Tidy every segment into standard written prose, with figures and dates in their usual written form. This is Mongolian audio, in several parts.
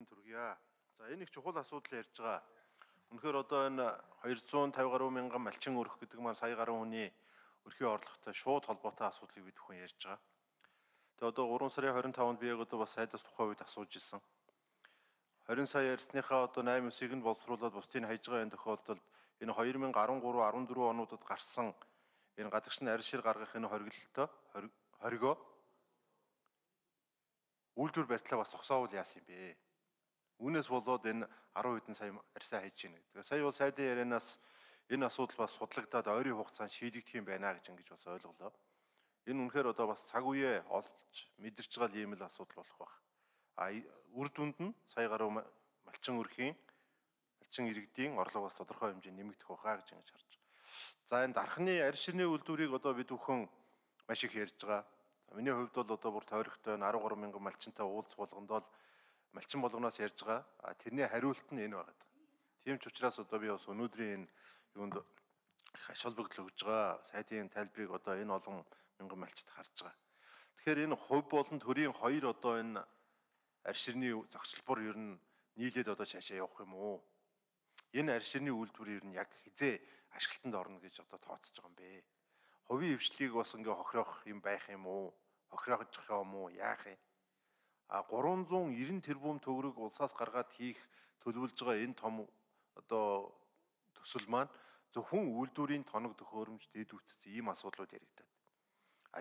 Түргийа. За энэ их чухал асуудал ярьж байгаа. Үнэхээр одоо энэ 250 гаруй мянган малчин өрөх гэдэг маань сая гаруй хүний өрхийн орлоготой шууд холбоотой асуудлыг бид бүхэн ярьж байгаа. Тэгээ одоо 3 сарын 25-нд би яг одоо бас сайдаас тухайн үед асууж ирсэн. 20 сая ярьсныхаа одоо 8-9-ыг нь боловсруулад бусдыг хайж байгаа энэ тохиолдолд энэ 2013-14 онуудад гарсан энэ гадагш нь арьс шир гаргах энэ хоригоо үйлдвэр барьтлаа бас зогсоовол яасан юм бэ? Үүнээс болоод энэ 10 хэдэн сая арьсаа хайж гинэ. Тэгээ сая бол сайдын ярианаас энэ асуудал бас судлагдаад ойрын хугацаанд шийдэгдэх юм байна гэж ингэж бас ойлголоо. Энэ үнэхээр одоо бас цаг үеэ олж мэдэрч байгаа юм л асуудал болох байх. Үр дүнд нь сая гаруй малчин өрхийн малчин иргэдийн орлого бас тодорхой хэмжээнд нэмэгдэх байхаа гэж ингэж харж байгаа. За энэ дархны арьс ширний үйлдвэрийг одоо бид бүхэн маш их ярьж байгаа. Миний хувьд бол одоо бүр тойрогтой 13 мянган малчинтай уулз болгонд бол малчин болгоноос ярьж байгаа. Тэрний хариулт нь энэ байна. Тийм ч учраас одоо би бас өнөөдрийн энэ юунд аш холбогдол өгж байгаа сайдын тайлбарыг одоо энэ олон мянган малчид харж байгаа. Тэгэхээр энэ хувь болон төрийн хоёр одоо энэ арьс ширний зохицолбор ер нь нийлээд одоо цаашаа явах юм уу? Энэ арьс ширний үйлдвэр ер нь яг хизээ ашиглалтанд орно гэж одоо тооцож байгаа юм бэ? Хувийн хвшлийг бас ингээ хохирох юм байх юм уу? Хохирохж юм уу? Яах юм? 390 тэрбум төгрөг улсаас гаргаад хийх төлөвлөж байгаа энэ том одоо төсөл маань зөвхөн үйлдвэрийн тоног төхөөрөмж дэд үтцсэн ийм асуудлууд яригдаад.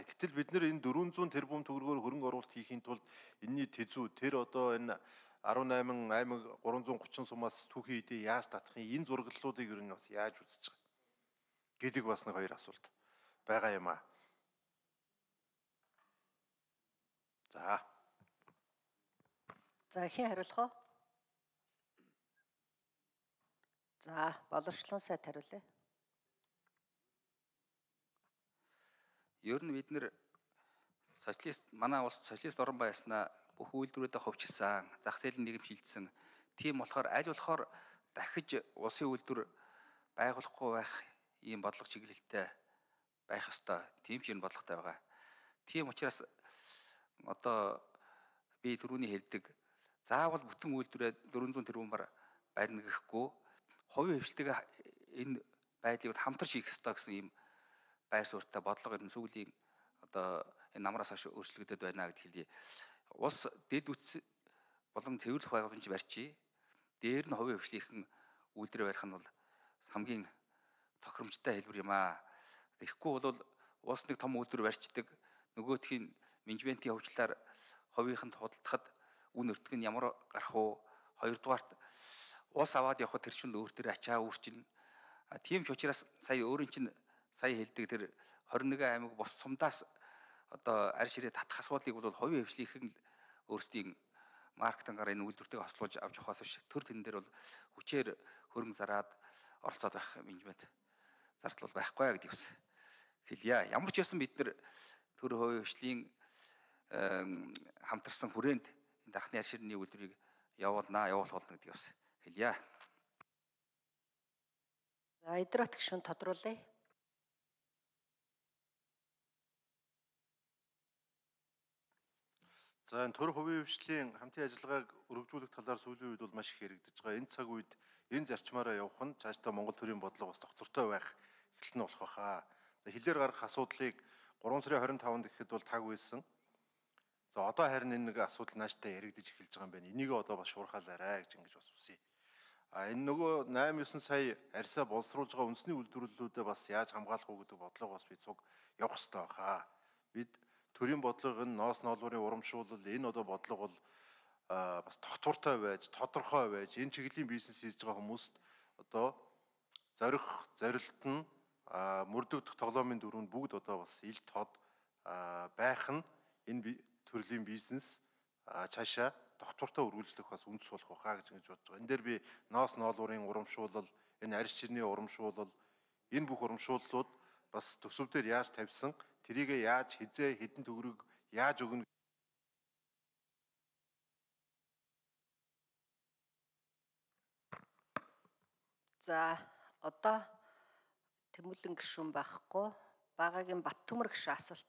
Гэтэл бид нэр энэ 400 тэрбум төгрөгөөр хөрөнгө оруулалт хийхийн тулд энэний тэзүү тэр одоо энэ 18 аймаг 330 сумаас түүхий хэдий яаж татах юм энэ зураглалуудыг ер нь бас яаж үзэж байгаа гэдэг бас нэг хоёр асуулт байгаа юм аа. За хэн хариулах вэ? За боловсролын сайд хариулъя. Ер нь бид нэр манай улс социалист орн байснаа бүх үйлдвэрүүдэд ховчилсан, зах зээлийн нийгэм шилжсэн. Тийм болохоор аль болохоор дахиж улсын үйлдвэр байгуулахгүй байх ийм бодлого чиглэлтэй байх ёстой. Тийм ч энэ бодлоготой байгаа. Тийм учраас одоо би түрүүний хэлдэг заавал бүтэн үйлдвэрээ 400 тэрбумаар барьна гэхгүй хувийн хвшлтэйгээ энэ байдлыг хамтарч хийх ёстой гэсэн ийм байр суурьтай бодлого энэ сүүлийн одоо энэ намраас хойш өөрчлөгдөд байна гэж хэлье. Улс дэд үтс болон цэвэрлэх байгууламж барьчи. Дээр нь хувийн хвшлийнхэн үйлдвэр барих нь бол хамгийн тохиромжтой хэлбэр юм аа. Тэгэхгүй бол улс нэг том үйлдвэр барьчдаг нөгөөтхийн менежментийн хөвчлөөр хувийнханд худалдахад үн өртөг нь ямар гарах уу? Хоёрдугаарт улс аваад явхад тэр чинь өөр төр ачаа үүрчин. Тийм ч учраас сая өөрийн чинь сая хэлдэг тэр 21 аймаг бос сумдаас одоо арьс ширээ татах асуудлыг бол хувийн хвшлийнхэн өөрсдийн маркетингаар энэ үйлдвэртэйг хослуулж авч явахаас биш төр тэн дээр бол хүчээр хөрөнгө зараад оролцоод байх менежмент зардал бол байхгүй гэдэг бас хэлье. Ямар ч байсан бид нар төр хувийн хвшлийн хамтарсан хүрээнд энэ дархны арьс ширний үйлдвэрийг явуулах болно гэдэг бас хэлье. За Идрот гишүүн тодруулъя. За энэ төр хувийн хвшлийн хамтын ажиллагааг өргөжүүлэх талаар сүүлийн үед бол маш их яригдж байгаа. Энэ цаг үед энэ зарчмаараа явах нь цаашдаа Монгол төрийн бодлого бас тогтвортой байх эхлэл нь болох байхаа. Хилээр гарах асуудлыг 3 сарын 25-нд гэхэд бол таг байсан. За одоо харин энэ нэг асуудал нааштай яригдж эхэлж байгаа юм байна. Энийг одоо бас шуурхаалаарай гэж ингэж бас үсэе. Энэ нөгөө 8-9 сая арьсаа боловсруулж байгаа үндэсний үйлдвэрлэлүүдэд бас яаж хамгаалах уу гэдэг бодлого бас бид цуг явах хэрэгтэй байхаа. Бид төрийн бодлого энэ ноос ноолуурын урамшуулал энэ одоо бодлого бол бас тогтвортой байж, тодорхой байж, энэ чиглэлийн бизнес хийж байгаа хүмүүст одоо зорилт нь мөрдөгдөх тоглоомын дөрөв бүгд одоо бас ил тод байх нь энэ төрлийн бизнес цаашаа тогтвортой үргэлжлэх бас үндэс болох байхаа гэж бодож байгаа. Энэ дээр би ноос ноолуурын урамшуулал, энэ арьс ширний урамшуулал, энэ бүх урамшууллууд бас төсөв дээр яаж тавьсан, тэрийг яаж хизээ хэдэн төгрөг яаж өгнө. За одоо Тэмүүлэн гишүүн байхгүй, Багаагийн Баттөмөр гишүүн асуулт